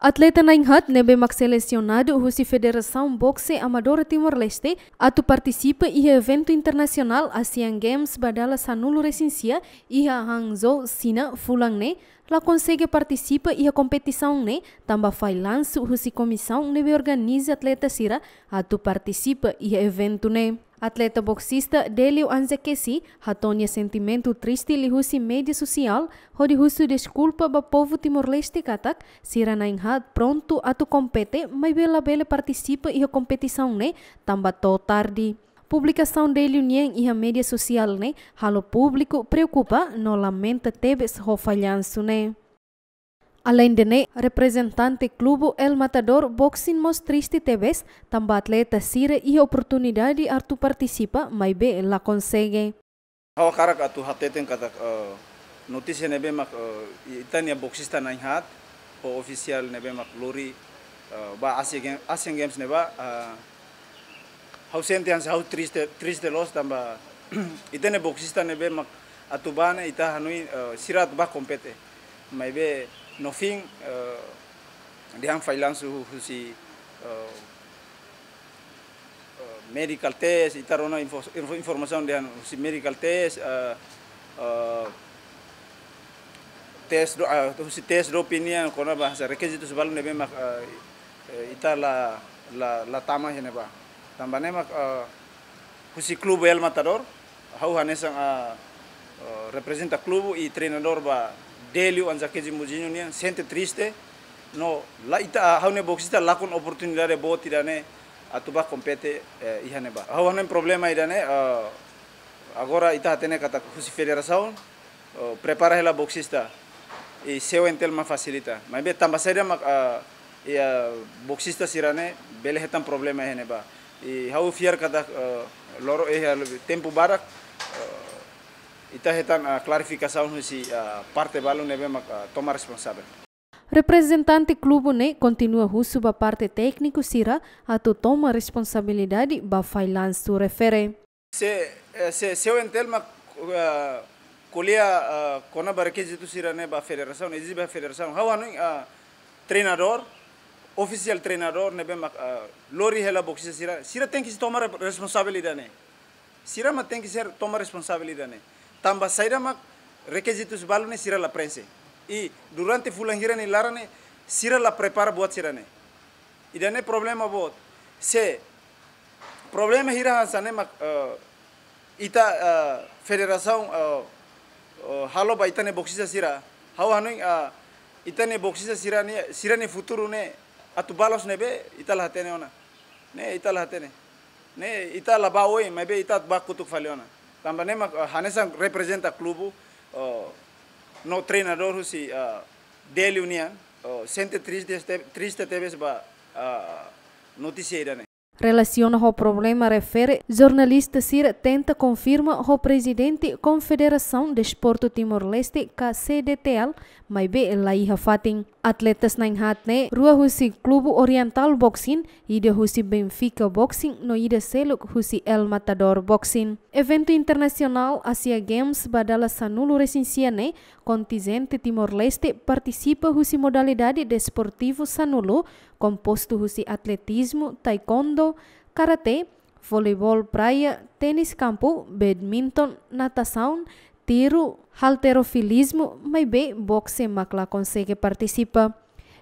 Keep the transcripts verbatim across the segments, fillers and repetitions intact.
Atleta na'in-haat ne'ebé mak selesionadu husi Federasaun Boxe Amadora Timor-Leste atu partisipa iha eventu internasionál Asian Games ba dala sanulu-resin-sia iha Hangzhou, Xina, fulan ne'e, la konsege partisipa iha kompetisaun ne'e, tanba fallansu husi komisaun ne'ebé organiza atleta sira atu partisipa iha eventu ne'e. Atleta boksista Delio Anzakesi hato'o nia sentimentu triste liuhusi média sosiál, hodi husu deskulpa ba povu Timor-Leste katak sira na'in-haat prontu atu kompete, maibé labele partisipa iha kompetisaun ne'e tanba to'o tarde. Publikasaun Delio nian iha média sosiál ne'e halo públiku preokupa no lamenta tebes ho fallansu ne'e. Aleinde ne'e, reprezentante klubu El Matador Boxing mós triste tebes, tanba atleta sira iha oportunidade atu partisipa, maibé la konsege. Ha'u hakarak atu hateten katak, eh, notísia ne'ebé mak, eh, ita-nia boksista na'in-haat, ho ofisiál ne'ebé mak lori, eh, ba Asia Gam-, Asian Games ne'ebá, eh, ha'u sente hanesan ha'u triste, triste loos tanba ita-nia boksista ne'ebé mak atu bá ne'e ita hanoin, eh, sira atu bá kompete. Maibé no fim, eh, dehan fallansu husi, eh, eh, medical test, ita rona info-, info-, informasaun dehan husi medical test, eh, eh, test do-, eh, husi test doping nian kona-ba hanesan rekizitus balu ne'ebé mak, eh, eh, ita la, la, la tama iha ne'ebá. Tanba ne'e mak, eh, husi klubu El Matador, ha'u hanesan, ah, eh, reprezenta klubu i treinadór ba Delio Anzakesi Mujinho nian, sente triste, no la ita, ah, ha'u-nia boksista lakon oportunidade boot ida-ne'e atu bá kompete, eh, iha ne'ebá. Ha'u hanoin problema ida-ne'e, eh, agora ita hatene katak husi federasaun, oh, prepara hela boksista i Sewentel mak fasilita. Maibé tanba saida mak, ah, i, ah, boksista sira-ne'e bele hetan problema iha ne'ebá. I ha'u fiar katak, ah, loron, eh, tempu badak, ah, ita hetan, ah, klarifikasaun husi, ah, parte balu ne'ebé mak, ah, toma responsavel. Reprezentante klubu ne'e kontinua husu ba parte tékniku sira atu toma responsabilidade ba fallansu refere. Se, eh, se, Sewentel mak, eh, ko'alia, eh, kona-ba rekizitu sira-ne'e ba federasaun, ezije ba federasaun. Ha'u hanoin, eh, treinadór, ofisiál treinadór ne'ebé mak, eh, lori hela boksista sira, sira tenke sei toma re-, responsabilidade ne'e. Sira mak tenke sei toma responsabilidade ne'e. Tanba saida mak rekizitus balu ne'e sira la prenxe. I durante fulan hira nia laran ne'e sira la prepara buat sira-ne'e. Ida-ne'e problema boot. Se problema hira hanesan ne'e mak, eh, ita, eh, federasaun, eh, eh, halo ba ita-nia boksista sira. Ha'u hanoin, eh, ita-nia boksista sira-ne'e, sira-nia futuru ne'e atu bá loos ne'ebé, ita la hatene ona. Ne'e, ita la hatene. Ne'e, ita la bá oin, maibé ita bá kotuk fali ona. Tanba ne'e mak, eh, hanesan reprezenta klubu, eh, no treinadór husi, eh, Delio nian, eh, sente triste, triste tebes ba, eh, notísia ida-ne'e. Relasiona ho problema refere, jornalista sira tenta konfirma ho prezidente Konfederasaun Desportu Timor-Leste, ka C D T L, maibé la iha fatin. Atletas na'in-haat ne'e, rua husi klubu Oriental Boxing, ida husi Benfica Boxing, no ida seluk husi El Matador Boxing. Eventu internasionál Asia Games ba dala sanulu-resin-sia ne'e, kontinjente Timor-Leste partisipa husi modalidade desportivu sanulu, kompostu husi atletizmu, taekwondo, karate, voleibol praia, tenis kampu, badminton, natasaun, tiru, halterofilizmu, maibé boxe mak la konsege partisipa.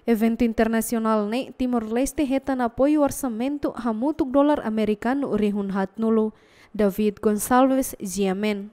Eventu internasionál ne'e Timor-Leste hetan apoiu orsamentu hamutuk dolar amerikanu rihun haatnulu. David Gonçalves, G M N.